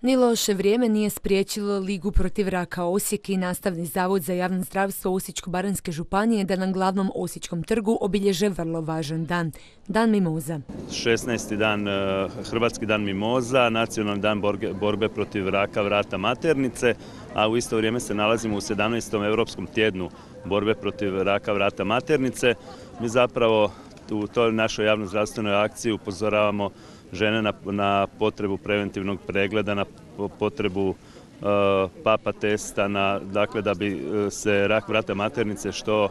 Ni loše vrijeme nije spriječilo Ligu protiv raka Osijek i Nastavni zavod za javno zdravstvo Osječko-baranjske županije da na glavnom Osječkom trgu obilježe vrlo važan dan, Dan mimoza. 16. dan, Hrvatski dan mimoza, nacionalni dan borbe protiv raka vrata maternice, a u isto vrijeme se nalazimo u 17. Europskom tjednu borbe protiv raka vrata maternice. Mi zapravo u toj našoj javnozdravstvenoj akciji upozoravamo žene na potrebu preventivnog pregleda, na potrebu papa testa, dakle da bi se rak vrata maternice što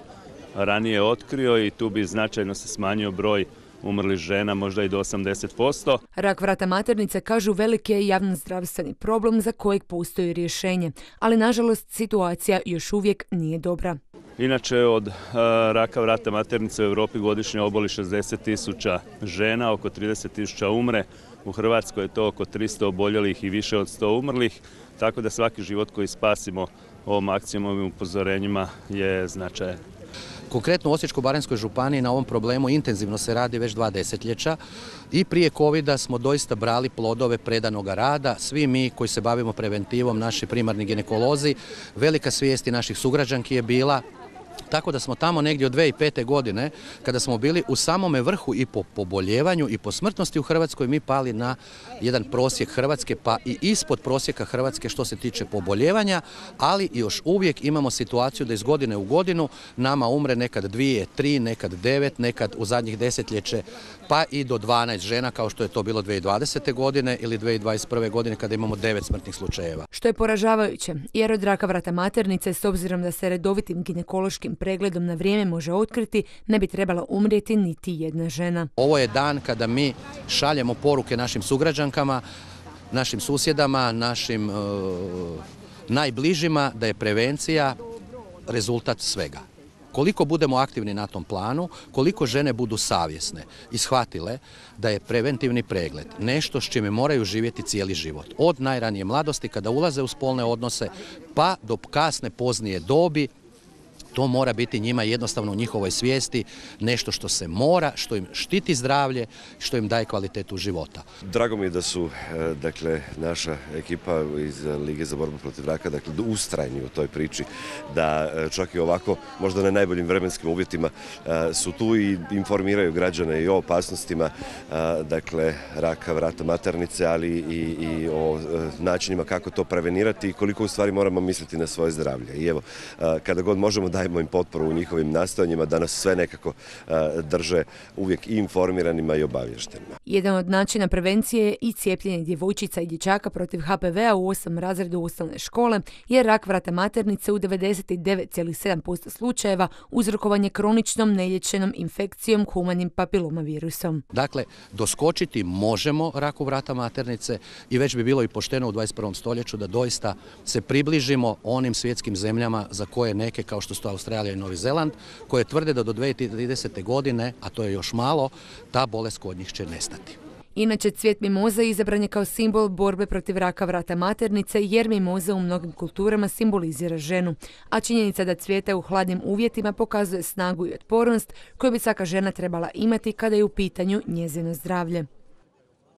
ranije otkrio i tu bi značajno se smanjio broj umrlih žena, možda i do 80%. Rak vrata maternice, kažu, veliki je javnozdravstveni problem za kojeg postoji rješenje, ali nažalost situacija još uvijek nije dobra. Inače, od raka vrata maternice u Europi godišnje oboli 60.000 žena, oko 30.000 umre. U Hrvatskoj je to oko 300 oboljelih i više od 100 umrlih, tako da svaki život koji spasimo ovom akcijom, ovim upozorenjima je značajan. Konkretno u Osječko-baranjskoj županiji na ovom problemu intenzivno se radi već 2 desetljeća i prije covida smo doista brali plodove predanoga rada. Svi mi koji se bavimo preventivom, naši primarni ginekolozi, velika svijest i naših sugrađanki je bila. Tako da smo tamo negdje od 2005. godine, kada smo bili u samome vrhu i po poboljevanju i po smrtnosti u Hrvatskoj, mi pali na jedan prosjek Hrvatske, pa i ispod prosjeka Hrvatske što se tiče poboljevanja, ali još uvijek imamo situaciju da iz godine u godinu nama umre nekad 2, 3, nekad 9, nekad u zadnjih desetljeće pa i do 12 žena, kao što je to bilo 2020. godine ili 2021. godine kada imamo 9 smrtnih slučajeva. Što je poražavajuće, jer od raka vrata maternice, s obzirom da se redovitim ginekološkim pregledom na vrijeme može otkriti, ne bi trebala umrijeti niti jedna žena. Ovo je dan kada mi šaljemo poruke našim sugrađankama, našim susjedama, našim najbližima da je prevencija rezultat svega. Koliko budemo aktivni na tom planu, koliko žene budu savjesne i shvatile da je preventivni pregled nešto s čime moraju živjeti cijeli život. Od najranije mladosti kada ulaze u spolne odnose pa do kasne poznije dobi, to mora biti njima jednostavno u njihovoj svijesti nešto što se mora, što im štiti zdravlje, što im daje kvalitetu života. Drago mi je da su naša ekipa iz Lige za borbu protiv raka ustrajni u toj priči, da čak i ovako, možda na najboljim vremenskim uvjetima, su tu i informiraju građane i o opasnostima raka vrata maternice, ali i o načinima kako to prevenirati i koliko u stvari moramo misliti na svoje zdravlje. I evo, kada god možemo dajemo im potporu u njihovim nastojanjima da nas sve nekako drže uvijek i informiranima i obavještenima. Jedan od načina prevencije je i cijepljenje djevojčica i dječaka protiv HPV-a u 8 razredu osnovne škole, jer rak vrata maternice u 99,7% slučajeva uzrokovan je kroničnom nelječenom infekcijom humanim papilomavirusom. Dakle, doskočiti možemo raku vrata maternice i već bi bilo i pošteno u 21. stoljeću da doista se približimo onim svjetskim zemljama za koje neke, kao što su Australija i Novi Zeland, koje tvrde da do 2030. godine, a to je još malo, ta bolest kod njih će nestati. Inače, cvijet mimoze izabran je kao simbol borbe protiv raka vrata maternice, jer mimoza u mnogim kulturama simbolizira ženu, a činjenica da cvijeta u hladnim uvjetima pokazuje snagu i otpornost koju bi svaka žena trebala imati kada je u pitanju njezino zdravlje.